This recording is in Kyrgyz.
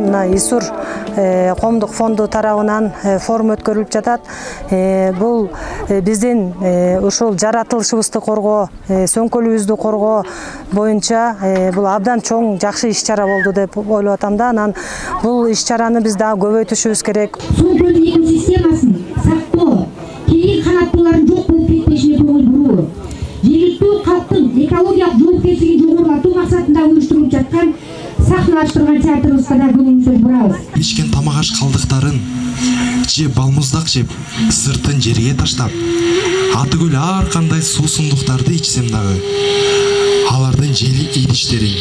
мына ИСУР коомдук фонду тарабынан форум өткөрүлүп жатат. Бул биздин ушул жаратылышыбызды коргоо, сөңкөлүбүздү коргоо боюнча бул абдан чоң жакшы иш-чара болду деп ойлоп атам да. Анан бул иш-чараны биз дагы көбөйтүшүбүз керек. Сөңкөлдүн экосистемасын сактоо, кийин канаттуулардын жок болуп кетпешине көңүл буруу, жергиликтүү калктын экологиялык жоопкерчилигин жогорулатуу максатында уюштурулуп жаткан сахналаштырылган театрыбызга да көңүл бурабыз. Ичкен тамак аш калдыктарын же балмуздак жеп, сыртын жерге таштап, атыгүл ар кандай суусундуктарды ичсем дагы алардын жели идиштерин